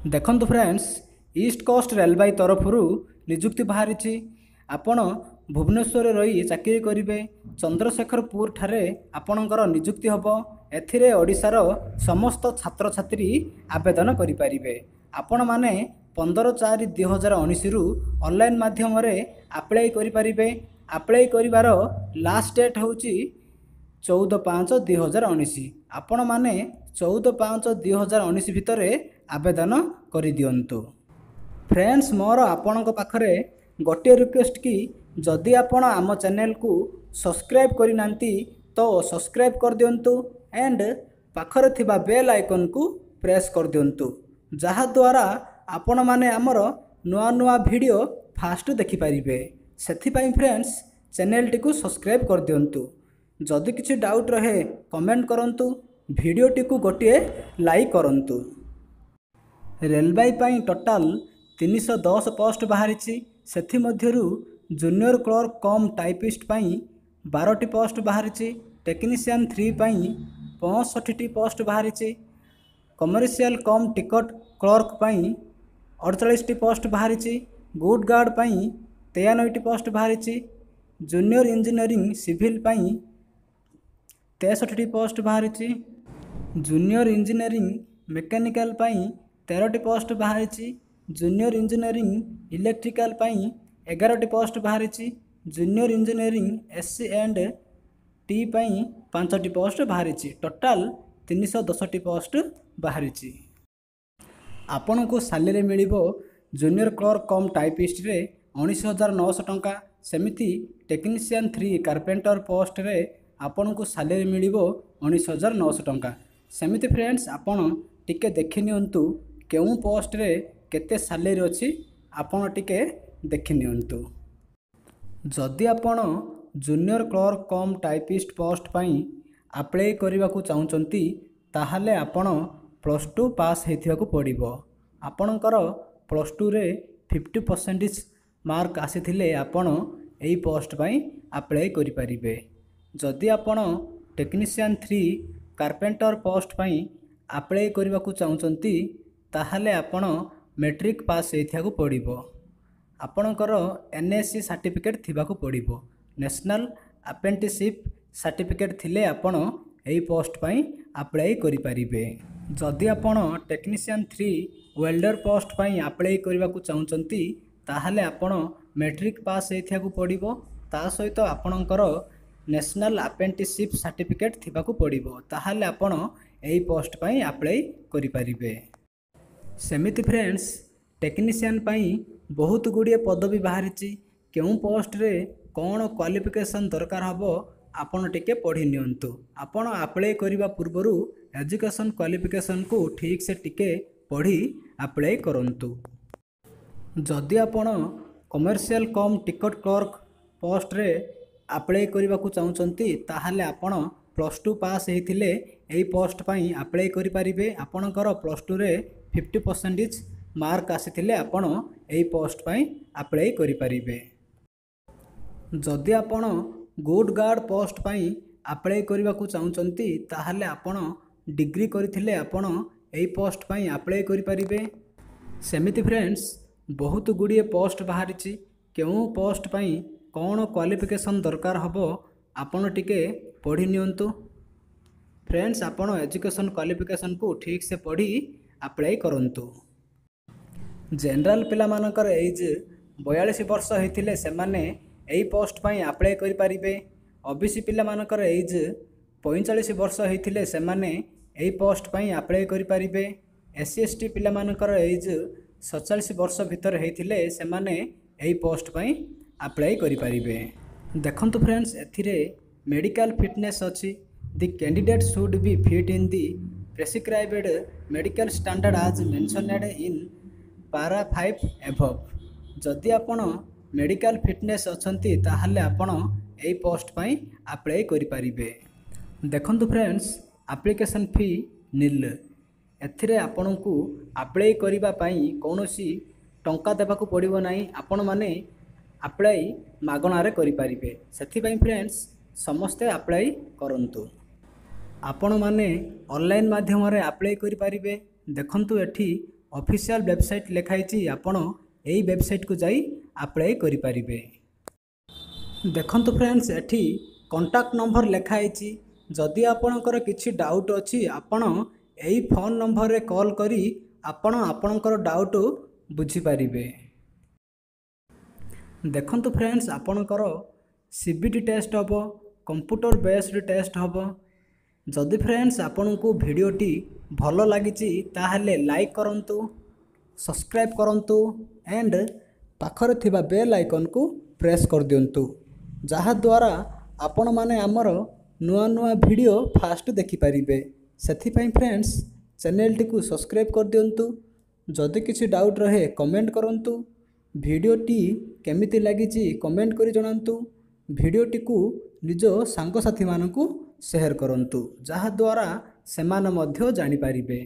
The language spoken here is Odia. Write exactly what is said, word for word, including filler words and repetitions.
ଦେଖନ୍ତୁ ଫ୍ରେଣ୍ଡସ୍, ଇଷ୍ଟ କୋଷ୍ଟ ରେଲବାଇ ତରଫରୁ ନିଯୁକ୍ତି ବାହାରିଛି। ଆପଣ ଭୁବନେଶ୍ୱରରେ ରହି ଚାକିରି କରିବେ। ଚନ୍ଦ୍ରଶେଖରପୁର ଠାରେ ଆପଣଙ୍କର ନିଯୁକ୍ତି ହେବ। ଏଥିରେ ଓଡ଼ିଶାର ସମସ୍ତ ଛାତ୍ରଛାତ୍ରୀ ଆବେଦନ କରିପାରିବେ। ଆପଣମାନେ ପନ୍ଦର ଚାରି ଦୁଇ ହଜାର ଉଣେଇଶରୁ ଅନଲାଇନ୍ ମାଧ୍ୟମରେ ଆପ୍ଲାଏ କରିପାରିବେ। ଆପ୍ଲାଏ କରିବାର ଲାଷ୍ଟ ଡେଟ୍ ହେଉଛି ଚଉଦ ପାଞ୍ଚ ଦୁଇ ହଜାର ଉଣେଇଶ। ଆପଣମାନେ ଚଉଦ ପାଞ୍ଚ ଦୁଇ ହଜାର ଉଣେଇଶ ଭିତରେ ଆବେଦନ କରିଦିଅନ୍ତୁ। ଫ୍ରେଣ୍ଡସ୍, ମୋର ଆପଣଙ୍କ ପାଖରେ ଗୋଟିଏ ରିକ୍ୱେଷ୍ଟ କି ଯଦି ଆପଣ ଆମ ଚ୍ୟାନେଲକୁ ସବସ୍କ୍ରାଇବ୍ କରିନାହାନ୍ତି, ତ ସବସ୍କ୍ରାଇବ୍ କରିଦିଅନ୍ତୁ ଆଣ୍ଡ ପାଖରେ ଥିବା ବେଲ୍ ଆଇକନ୍କୁ ପ୍ରେସ୍ କରିଦିଅନ୍ତୁ, ଯାହାଦ୍ୱାରା ଆପଣମାନେ ଆମର ନୂଆ ନୂଆ ଭିଡ଼ିଓ ଫାଷ୍ଟ ଦେଖିପାରିବେ। ସେଥିପାଇଁ ଫ୍ରେଣ୍ଡସ୍, ଚ୍ୟାନେଲଟିକୁ ସବସ୍କ୍ରାଇବ୍ କରିଦିଅନ୍ତୁ। ଯଦି କିଛି ଡାଉଟ୍ ରହେ, କମେଣ୍ଟ କରନ୍ତୁ। ଭିଡ଼ିଓଟିକୁ ଗୋଟିଏ ଲାଇକ୍ କରନ୍ତୁ। ରେଲବାଇ ପାଇଁ ଟୋଟାଲ୍ ତିନିଶହ ଦଶ ପୋଷ୍ଟ ବାହାରିଛି। ସେଥିମଧ୍ୟରୁ ଜୁନିୟର କ୍ଲର୍କ କମ୍ ଟାଇପିଷ୍ଟ ପାଇଁ ବାରଟି ପୋଷ୍ଟ ବାହାରିଛି। ଟେକ୍ନିସିଆନ୍ ଥ୍ରୀ ପାଇଁ ପଞ୍ଚଷଠିଟି ପୋଷ୍ଟ ବାହାରିଛି। କମର୍ସିଆଲ କମ୍ ଟିକଟ କ୍ଲର୍କ ପାଇଁ ଅଡ଼ଚାଳିଶଟି ପୋଷ୍ଟ ବାହାରିଛି। ଗୁଡ୍ ଗାର୍ଡ଼ ପାଇଁ ତେୟାନବେଟି ପୋଷ୍ଟ ବାହାରିଛି। ଜୁନିୟର ଇଞ୍ଜିନିୟରିଂ ସିଭିଲ୍ ପାଇଁ ତେଷଠିଟି ପୋଷ୍ଟ ବାହାରିଛି। ଜୁନିୟର ଇଞ୍ଜିନିୟରିଂ ମେକାନିକାଲ ପାଇଁ ତେରଟି ପୋଷ୍ଟ ବାହାରିଛି। ଜୁନିୟର ଇଞ୍ଜିନିୟରିଂ ଇଲେକ୍ଟ୍ରିକାଲ ପାଇଁ ଏଗାରଟି ପୋଷ୍ଟ ବାହାରିଛି। Junior engineering S C and T ପାଇଁ ପାଞ୍ଚଟି ପୋଷ୍ଟ ବାହାରିଛି। ଟୋଟାଲ୍ ତିନିଶହ ଦଶଟି ପୋଷ୍ଟ ବାହାରିଛି। ଆପଣଙ୍କୁ ସାଲେରୀ ମିଳିବ ଜୁନିୟର କ୍ଲର୍କ କମ୍ ଟାଇପିଷ୍ଟରେ ଉଣେଇଶ ହଜାର ନଅଶହ ଟଙ୍କା। ସେମିତି ଟେକ୍ନିସିଆନ୍ ଥ୍ରୀ କାର୍ପେଣ୍ଟର ପୋଷ୍ଟରେ ଆପଣଙ୍କୁ ସାଲେରୀ ମିଳିବ ଉଣେଇଶ ହଜାର ନଅଶହ ଟଙ୍କା। ସେମିତି ଫ୍ରେଣ୍ଡସ୍, ଆପଣ ଟିକେ ଦେଖି ନିଅନ୍ତୁ, କେଉଁ ପୋଷ୍ଟରେ କେତେ ସାଲେରୀ ଅଛି ଆପଣ ଟିକେ ଦେଖି ନିଅନ୍ତୁ। ଯଦି ଆପଣ ଜୁନିୟର କ୍ଲର୍କ କମ୍ ଟାଇପିଷ୍ଟ ପୋଷ୍ଟ ପାଇଁ ଆପ୍ଲାଏ କରିବାକୁ ଚାହୁଁଛନ୍ତି, ତାହେଲେ ଆପଣ ପ୍ଲସ୍ ଟୁ ପାସ୍ ହେଇଥିବାକୁ ପଡ଼ିବ। ଆପଣଙ୍କର ପ୍ଲସ୍ ଟୁରେ ଫିଫ୍ଟି ପରସେଣ୍ଟେଜ୍ ମାର୍କ ଆସିଥିଲେ ଆପଣ ଏହି ପୋଷ୍ଟ ପାଇଁ ଆପ୍ଲାଏ କରିପାରିବେ। ଯଦି ଆପଣ ଟେକ୍ନିସିଆନ୍ ଥ୍ରୀ କାର୍ପେଣ୍ଟର ପୋଷ୍ଟ ପାଇଁ ଆପ୍ଲାଏ କରିବାକୁ ଚାହୁଁଛନ୍ତି, ତାହେଲେ ଆପଣ ମେଟ୍ରିକ୍ ପାସ୍ ହେଇଥିବାକୁ ପଡ଼ିବ। ଆପଣଙ୍କର ଏନ୍ ଏ ସି ସାର୍ଟିଫିକେଟ୍ ଥିବାକୁ ପଡ଼ିବ। ନ୍ୟାସନାଲ୍ ଆପ୍ରେଣ୍ଟିସିପ୍ ସାର୍ଟିଫିକେଟ୍ ଥିଲେ ଆପଣ ଏହି ପୋଷ୍ଟ ପାଇଁ ଆପ୍ଲାଏ କରିପାରିବେ। ଯଦି ଆପଣ ଟେକ୍ନିସିଆନ୍ ଥ୍ରୀ ୱେଲ୍ଡର ପୋଷ୍ଟ ପାଇଁ ଆପ୍ଲାଏ କରିବାକୁ ଚାହୁଁଛନ୍ତି, ତାହେଲେ ଆପଣ ମେଟ୍ରିକ୍ ପାସ୍ ହେଇଥିବାକୁ ପଡ଼ିବ। ତା ସହିତ ଆପଣଙ୍କର ନ୍ୟାସନାଲ୍ ଆପ୍ରେଣ୍ଟିସିପ୍ ସାର୍ଟିଫିକେଟ୍ ଥିବାକୁ ପଡ଼ିବ। ତାହେଲେ ଆପଣ ଏହି ପୋଷ୍ଟ ପାଇଁ ଆପ୍ଲାଏ କରିପାରିବେ। ସେମିତି ଫ୍ରେଣ୍ଡସ୍, ଟେକ୍ନିସିଆନ୍ ପାଇଁ ବହୁତ ଗୁଡ଼ିଏ ପଦବୀ ବାହାରିଛି। କେଉଁ ପୋଷ୍ଟରେ କ'ଣ କ୍ୱାଲିଫିକେସନ୍ ଦରକାର ହେବ, ଆପଣ ଟିକେ ପଢ଼ି ନିଅନ୍ତୁ। ଆପଣ ଆପ୍ଲାଏ କରିବା ପୂର୍ବରୁ ଏଜୁକେସନ୍ କ୍ୱାଲିଫିକେସନ୍କୁ ଠିକ୍ସେ ଟିକେ ପଢ଼ି ଆପ୍ଲାଏ କରନ୍ତୁ। ଯଦି ଆପଣ କମର୍ସିଆଲ କମ୍ ଟିକଟ କ୍ଲର୍କ ପୋଷ୍ଟରେ ଆପ୍ଲାଏ କରିବାକୁ ଚାହୁଁଛନ୍ତି, ତାହେଲେ ଆପଣ ପ୍ଲସ୍ ଟୁ ପାସ୍ ହେଇଥିଲେ ଏହି ପୋଷ୍ଟ ପାଇଁ ଆପ୍ଲାଏ କରିପାରିବେ। ଆପଣଙ୍କର ପ୍ଲସ୍ ଟୁରେ ଫିଫ୍ଟି ପରସେଣ୍ଟେଜ୍ ମାର୍କ ଆସିଥିଲେ ଆପଣ ଏହି ପୋଷ୍ଟ ପାଇଁ ଆପ୍ଲାଏ କରିପାରିବେ। ଯଦି ଆପଣ ଗୁଡ୍ ଗାର୍ଡ଼ ପୋଷ୍ଟ ପାଇଁ ଆପ୍ଲାଏ କରିବାକୁ ଚାହୁଁଛନ୍ତି, ତାହେଲେ ଆପଣ ଡିଗ୍ରୀ କରିଥିଲେ ଆପଣ ଏହି ପୋଷ୍ଟ ପାଇଁ ଆପ୍ଲାଏ କରିପାରିବେ। ସେମିତି ଫ୍ରେଣ୍ଡସ୍, ବହୁତ ଗୁଡ଼ିଏ ପୋଷ୍ଟ ବାହାରିଛି। କେଉଁ ପୋଷ୍ଟ ପାଇଁ କ'ଣ କ୍ୱାଲିଫିକେସନ୍ ଦରକାର ହେବ, ଆପଣ ଟିକେ ପଢ଼ି ନିଅନ୍ତୁ। ଫ୍ରେଣ୍ଡସ୍, ଆପଣ ଏଜୁକେସନ୍ କ୍ୱାଲିଫିକେସନ୍କୁ ଠିକ୍ସେ ପଢ଼ି ଆପ୍ଲାଏ କରନ୍ତୁ। ଜେନେରାଲ ପିଲାମାନଙ୍କର ଏଜ୍ ବୟାଳିଶ ବର୍ଷ ହେଇଥିଲେ ସେମାନେ ଏହି ପୋଷ୍ଟ ପାଇଁ ଆପ୍ଲାଏ କରିପାରିବେ। ଓ ବି ସି ପିଲାମାନଙ୍କର ଏଜ୍ ପଇଁଚାଳିଶ ବର୍ଷ ହେଇଥିଲେ ସେମାନେ ଏହି ପୋଷ୍ଟ ପାଇଁ ଆପ୍ଲାଏ କରିପାରିବେ। ଏସ୍ ସି, ଏସ୍ ଟି ପିଲାମାନଙ୍କର ଏଜ୍ ସତଚାଳିଶ ବର୍ଷ ଭିତରେ ହେଇଥିଲେ ସେମାନେ ଏହି ପୋଷ୍ଟ ପାଇଁ ଆପ୍ଲାଏ କରିପାରିବେ। ଦେଖନ୍ତୁ ଫ୍ରେଣ୍ଡସ୍, ଏଥିରେ ମେଡ଼ିକାଲ ଫିଟନେସ୍ ଅଛି। The candidate should be fit in the prescribed medical standard as mentioned in para five above. ଯଦି ଆପଣ ମେଡ଼ିକାଲ ଫିଟନେସ୍ ଅଛନ୍ତି, ତାହେଲେ ଆପଣ ଏହି ପୋଷ୍ଟ ପାଇଁ ଆପ୍ଲାଏ କରିପାରିବେ। ଦେଖନ୍ତୁ ଫ୍ରେଣ୍ଡସ୍, ଆପ୍ଲିକେସନ୍ ଫି ନିଲ୍। ଏଥିରେ ଆପଣଙ୍କୁ ଆପ୍ଲାଏ କରିବା ପାଇଁ କୌଣସି ଟଙ୍କା ଦେବାକୁ ପଡ଼ିବ ନାହିଁ। ଆପଣମାନେ ଆପ୍ଲାଏ ମାଗଣାରେ କରିପାରିବେ। ସେଥିପାଇଁ ଫ୍ରେଣ୍ଡସ୍, ସମସ୍ତେ ଆପ୍ଲାଏ କରନ୍ତୁ। ଆପଣମାନେ ଅନଲାଇନ୍ ମାଧ୍ୟମରେ ଆପ୍ଲାଏ କରିପାରିବେ। ଦେଖନ୍ତୁ, ଏଠି ଅଫିସିଆଲ୍ ୱେବସାଇଟ୍ ଲେଖା ହେଇଛି ଆପଣ ଏଇ ୱେବସାଇଟ୍କୁ ଯାଇ ଆପ୍ଲାଏ କରିପାରିବେ ଦେଖନ୍ତୁ ଫ୍ରେଣ୍ଡସ୍ ଏଠି କଣ୍ଟାକ୍ଟ ନମ୍ବର ଲେଖା ହେଇଛି ଯଦି ଆପଣଙ୍କର କିଛି ଡାଉଟ୍ ଅଛି ଆପଣ ଏଇ ଫୋନ୍ ନମ୍ବରରେ କଲ୍ କରି ଆପଣ ଆପଣଙ୍କର ଡାଉଟ୍ ବୁଝିପାରିବେ ଦେଖନ୍ତୁ ଫ୍ରେଣ୍ଡସ୍ ଆପଣଙ୍କର ସି ବି ଟି ଟେଷ୍ଟ ହେବ କମ୍ପ୍ୟୁଟର ବେସ୍ଡ ଟେଷ୍ଟ ହେବ ଯଦି ଫ୍ରେଣ୍ଡସ୍ ଆପଣଙ୍କୁ ଭିଡ଼ିଓଟି ଭଲ ଲାଗିଛି ତାହେଲେ ଲାଇକ୍ କରନ୍ତୁ ସବସ୍କ୍ରାଇବ୍ କରନ୍ତୁ ଆଣ୍ଡ ପାଖରେ ଥିବା ବେଲ୍ ଆଇକନ୍କୁ ପ୍ରେସ୍ କରିଦିଅନ୍ତୁ ଯାହାଦ୍ୱାରା ଆପଣମାନେ ଆମର ନୂଆ ନୂଆ ଭିଡ଼ିଓ ଫାଷ୍ଟ ଦେଖିପାରିବେ ସେଥିପାଇଁ ଫ୍ରେଣ୍ଡସ୍ ଚ୍ୟାନେଲଟିକୁ ସବସ୍କ୍ରାଇବ୍ କରିଦିଅନ୍ତୁ ଯଦି କିଛି ଡାଉଟ୍ ରହେ କମେଣ୍ଟ କରନ୍ତୁ ଭିଡ଼ିଓଟି କେମିତି ଲାଗିଛି କମେଣ୍ଟ କରି ଜଣାନ୍ତୁ ଭିଡ଼ିଓଟିକୁ ନିଜ ସାଙ୍ଗସାଥିମାନଙ୍କୁ ସେୟାର କରନ୍ତୁ ଯାହାଦ୍ୱାରା ସେମାନେ ମଧ୍ୟ ଜାଣିପାରିବେ।